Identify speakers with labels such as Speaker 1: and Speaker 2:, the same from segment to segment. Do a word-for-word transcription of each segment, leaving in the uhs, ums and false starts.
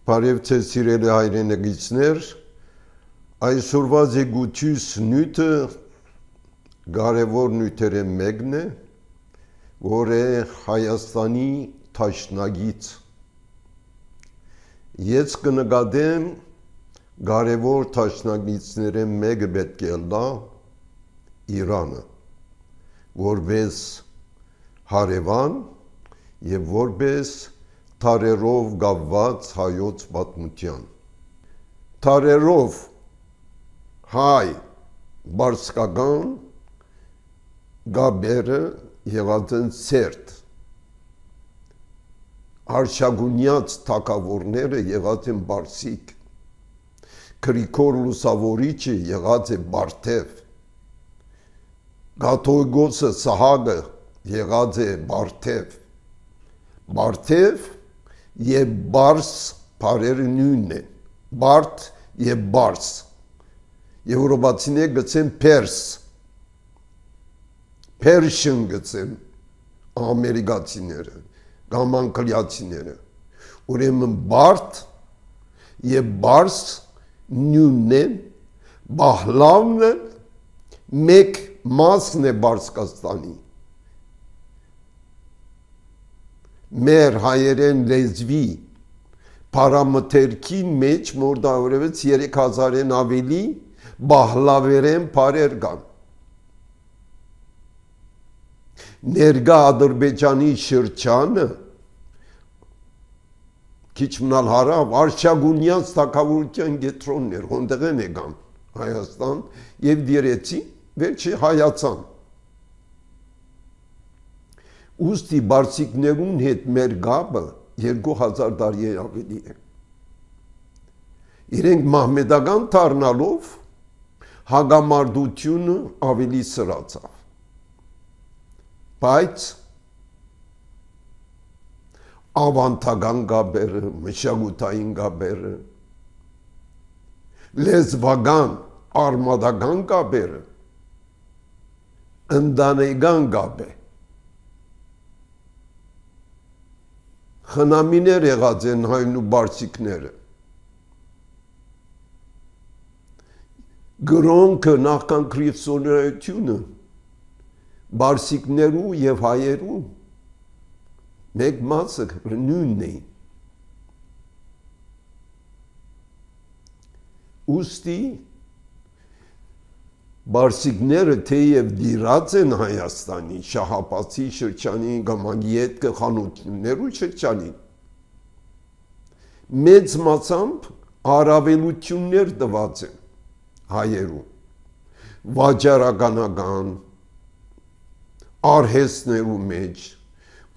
Speaker 1: Բարև ձեզ սիրելի հայրենիքներ, այսօրվա զեկույցիս նյութը կարևոր նյութերը մեկն է, որ է Հայաստանի թաշնագից։ Ես կնկատեմ կարևոր թաշնագիցները մեկը պետք է լա Իրանը, որպես հարևան եւ որպես թարերով գավված հայոց պատմության։ Թարերով հայ բարսկական գաբերը եղած են սերտ, արշագունյաց թագավորները եղած են բարսիկ, Գրիգոր Լուսավորիչը եղած է Բարթև, Կաթողիկոսը Սահակը եղած է Բարթև, Բարթև եւ Բարս բարերը նույնն են, Բարդ եւ Բարս, եվրոպացիները գցեն Պերս, Persian գցեն ամերիկացիները, կամ անգլիացիները, ուրեմն Բարդ եւ Բարս նույնն են, Բահլավն մեկ մասն է Բարսկաստանի, մեր հայերեն լեզվի պարամթերքին մեջ մորդավորվեց երեք հազարեն ավելի բահլավերեն բարեր կան։ Ներկա Ադրբեջանի շրջանը քիչ մնալ հարավ արշագունյաց թագավորության կենտրոնն էր, որտեղ են եկան Հայաստան եւ դիրեցին, վերջի հայացան։ Ուստի բարսիկներուն հետ մեր գաբը երկու հազար տարի ավելի է։ Իրենք մահմեդական դառնալով հագամարտությունը ավելի սրացավ։ Բայց ավանդական գաբերը, մշակութային գաբերը, լեզվական, արմատական գաբերը, ընտանեկան գաբ է։ Խնամիներ եղած են հայն ու բարսիկները։ Գրոնքը նախքան քրիստոնեությունը բարսիկներու եւ հայերու մեկ մասը նույնն էին։ Ուստի բարսիկները թեև դիրած են Հայաստանի շահապատի շրջանի կամ անգետքը խանութներու շրջանին, մեծ մասամբ առավելություններ տված են հայերու, վաճառականական, արհեստներու մեջ,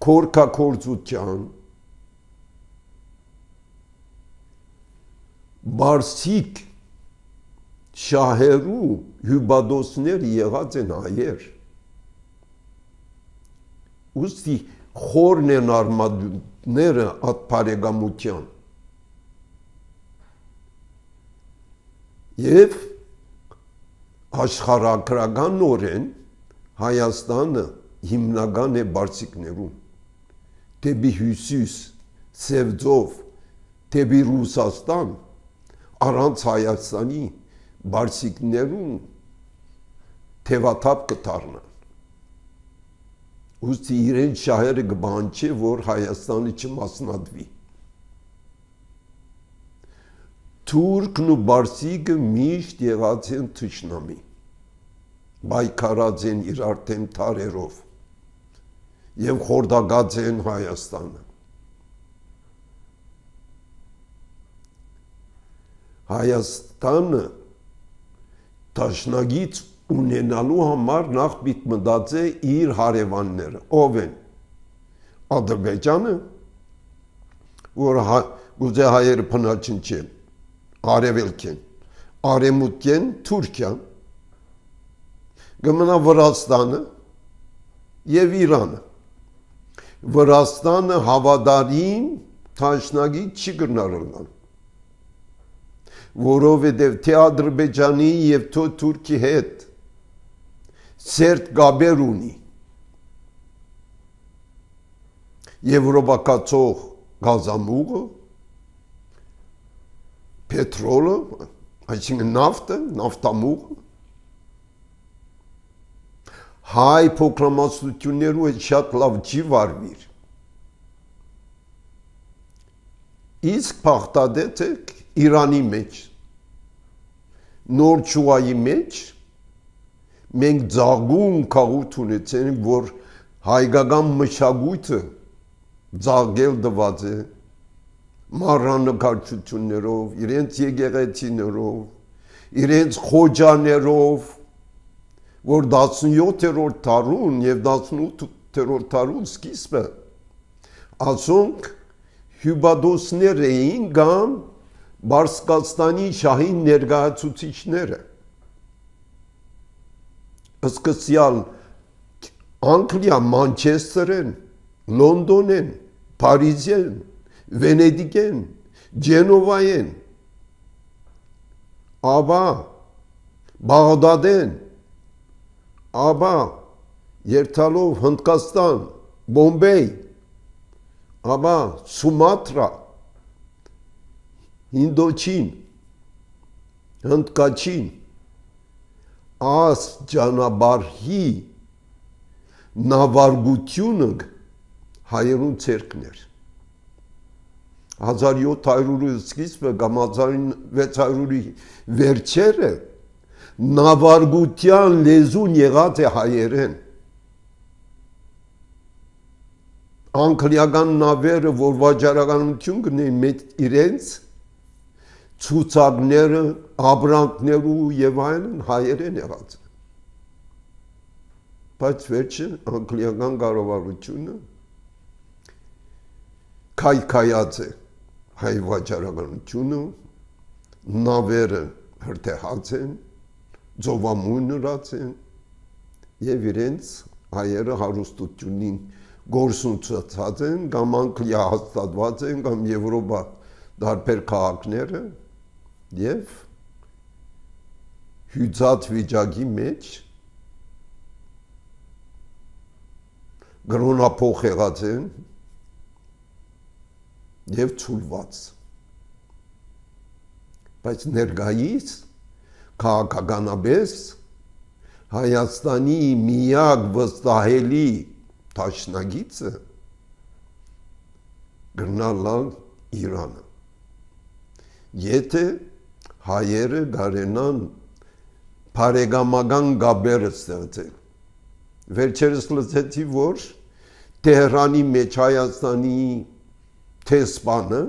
Speaker 1: քորքակորձության, բարսիկ շահերու հյուբադոսներ եղած են հայեր։ Ուստի խորն են արմատները այդ բարեկամության։ Եվ աշխարհագրականորեն Հայաստանը հիմնական է բարսիկներուն, դեպի հյուսիս, Սևձով, դեպի Ռուսաստան, առանց Հայաստանի բարսիկներուն թևաթափ կդառնան։ Ուստի իրեն շահերը կբանչի, որ Հայաստանը չմասնատվի։ Թուրքն ու բարսիկը միշտ եղած են թշնամի, պայքարած են իրար դեմ թարերով եւ խորտակած են Հայաստանը։ Հայաստանը Տաշնագից ունենալու համար նախ պիտի մտածե իր հարևանները, ով են Ադրբեջանը, որ գուցե հայերը փնաչնչեն, արևելքեն, արևմուտքեն Թուրքիան, կմնա Վրաստանը եւ Իրանը։ Վրաստանը հավատարիմ Տաշնագից չի գնալու, որովհետև թե Ադրբեջանի եւ թե Թուրքի հետ սերտ գաբեր ունի եվրոպակացող գազամուղը Պետրոլը, այսինքն նավթը, նավթամուղը, հայ փոքրամասնություններու հետ շատ լավ չի վարվիր։ Իսկ փախտադեթը Իրանի մեջ, նոր ճուղայի մեջ, մենք ձաղգուն կաղութ ունեցենք, որ հայկական մշակույթը ձաղգել դված է, մառաննկարչություններով, իրենց եկեղեցիներով, իրենց խոջաներով, որ տասնյոթերորդ դարուն եւ տասնութերորդ դարուն սկիզբը ասոնք հյուբադոսներ էին կամ Բարսկաստանի շահին ներկայացուցիչները սկսյալ Անգլիա, Մանչեսթերեն, Լոնդոնեն, Փարիզեն, Վենեդիկեն, Ջենովայեն, ապա Բաղդադեն, ապա երթալով Հնդկաստան, Բոմբեյ, ապա Սումատրա, Հինդոչին, Հնդկաչին, աս ճանապարհի նավարգությունը հայերուն ցերկներ հազար յոթ հարյուրի սկիզբը կամ հազար վեց հարյուրի վերջերը նավարգության լեզուն եղած է հայերեն անգլիական նավերը որ վաճառականություն կնեն մեծ իրենց ցուցակները ապրանքներու եւ այլն հայերեն եղած բայց վերջը անգլիական կառավարությունը քայքայած է հայ վաճառականությունը նավերը հրթեհած են ծովամույն ըրած են եւ իրենց հայերը հարուստությունին գործունեացած են կամ Անգլիա հաստատված են կամ Եվրոպա դարբեր քաղաքները եւ հյուծած վիճակի մեջ գրոնափոխ եղած են եւ ցուլված բայց ներգայիս քաղաքականաբես Հայաստանի միակ վստահելի դաշնակիցը գրնալալ Իրանը եթե հայերը գարենան բարեկամական գաբերը ստեղծել վերջերս լսեցի որ Տեհրանի մեջ Հայաստանի տեսփանը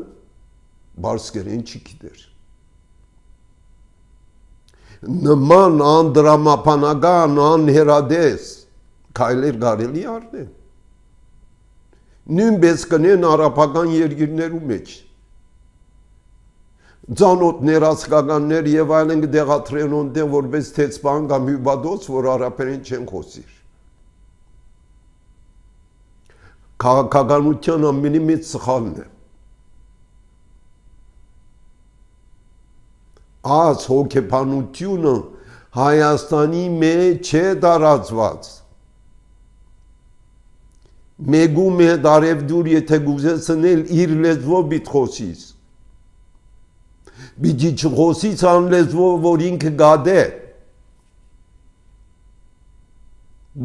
Speaker 1: բարսկերեն չի գիտեր նման անդրամապանական անհերադես քայլեր կարելի արնել նույնպես կնեն արաբական երկիրներու մեջ ծանոթներ ասկականներ եւ այլն դեղատրեն ոնդեն որպես տեսփան կամ հյուբադոց որ արաբերեն չեն խոսիր քաղաքականության ամենի մեծ սխալն է աս հոգեբանությունը Հայաստանի մեջ չէ տարածված մեգում է դարևդուր եթե գուզես ընել իր լեզվով բիտ խոսիս բիջի չխոսից ան լեզվով որ ինքը գադե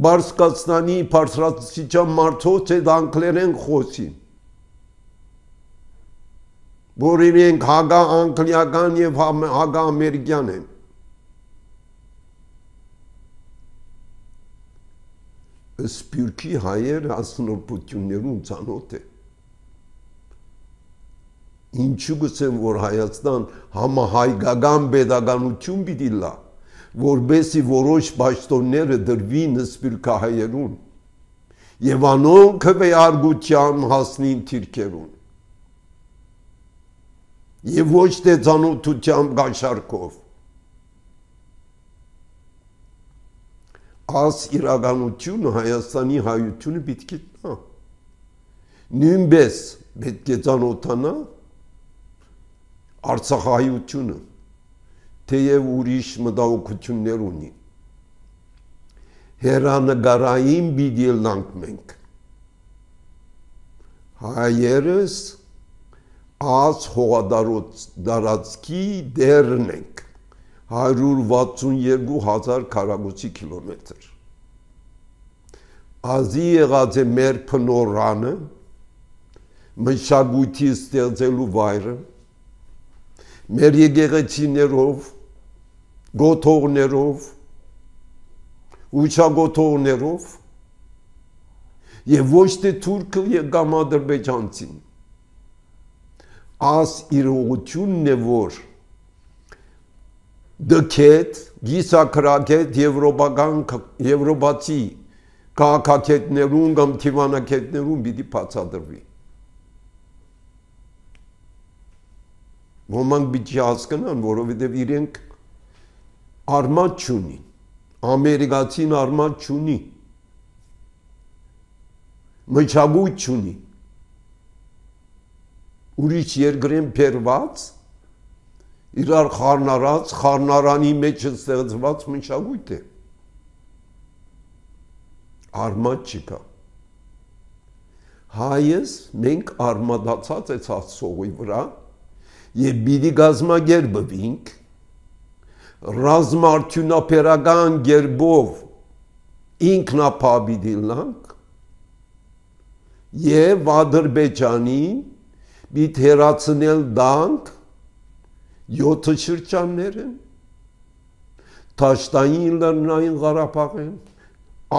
Speaker 1: Բարսկաստանի բարձրացիչան մարդոց է անգլերեն խոսին որ իրենք հագա անգլիական եւ հագա ամերիկյան են սպյուրքի հայերը ասնորբություններուն ծանոթ է ինչու գսեմ որ Հայաստան համահայկական pedagogiություն պիտի լա որբեսի որոշ պաշտոնները դրվին սպյուրքահայերուն եւ անոնք վեարգության հասնին թիրքերուն եւ ոչ թե ծանոթությամբ գաշարկով աս իրականությունը Հայաստանի հայությունը պիտի գտնա նույնպես պետք է ծանոթանա Արցախահայությունը թեև ուրիշ մտահոգություններ ունի հերանեկարային պիտի լանք մենք հայերս Աս հողադարածքի դերն ենք հարյուր վաթսունեքու հազար քառակուսի կիլոմետր։ Ազի եղած է մեր փնորանը, մշակույթի ստեղծելու վայրը, մեր եկեղեցիներով, գոթողներով, ուշագոթողներով եւ ոչ թե թուրքը եւ կամ ադրբեջանցին։ Աս իրողությունն է, որ դքետ, գիսակրակետ եվրոպական եվրոպացի քաղաքակետներուն կամ թիվանակետներուն պիտի բացատրվի։ Ոմանք պիտի հասկանան, որովհետև իրենք արմատ չունին, ամերիկացին արմատ չունի, մշակույթ չունի, ուրիշ երկրեն բերված, իրար խառնարած, խառնարանի մեջ ստեղծված մշակույթ է։ Արմատ չկա։ Հայս մենք արմատացած է Աստծոյի վրա եւ պիտի գազմագերբվենք ռազմարդյունաբերական գերբով ինքնապահ լինանք եւ Ադրբեջանի պիտի հերացնել դանք յոթ շրջաններն, Թաշտային Լեռնային Ղարաբաղեն,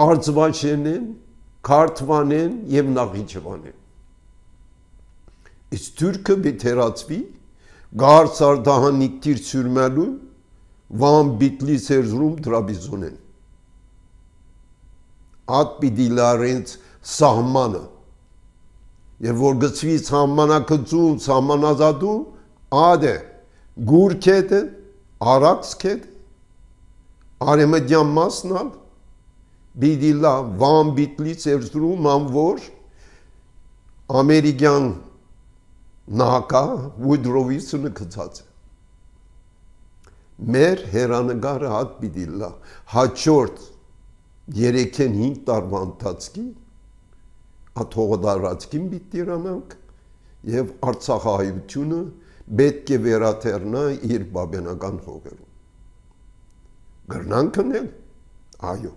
Speaker 1: Արցվաշենեն, Քարթվանեն եւ Նախիջևանեն։ Իսկ Թուրքը պիտի հերացվի Գարս արտահանիկ տիր սյուրմելու Վան Բիտլի Սերզրում Դրաբիզոնեն։ Ատ պիտի լարենց սահմանը եւ որ գծվի սահմանակցում, սահմանազատու, ադե գուրքետ, արաքսքետ, արեմդյան մասնալ, պիտի լա Վան Բիտլի Սերզրում անվոր ամերիկյան նահակա Վուդրովիսը կծած է։ Մեր հերանագարը հատ պիտի լա հաջորդ երեքեն հինգ տարվա ընթացքի աթողդարածքին պիտի իրանանք եւ Արցախահայությունը պետք է վերաթեռնա իր բաբենական հողերում։ Գրնանք անել, այո։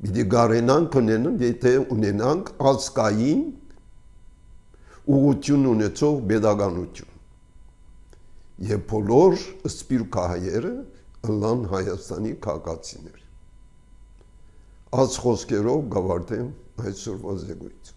Speaker 1: Պիտի գարենանք ունենան, եթե ունենանք ազգային ուղղություն ունեցող pedagoganություն։ Եվ բոլոր սպիրկահայերը ըլլան Հայաստանի քաղաքացիներ։ Այս խոսքերով գավարտեմ այսօրվա զեկույցը։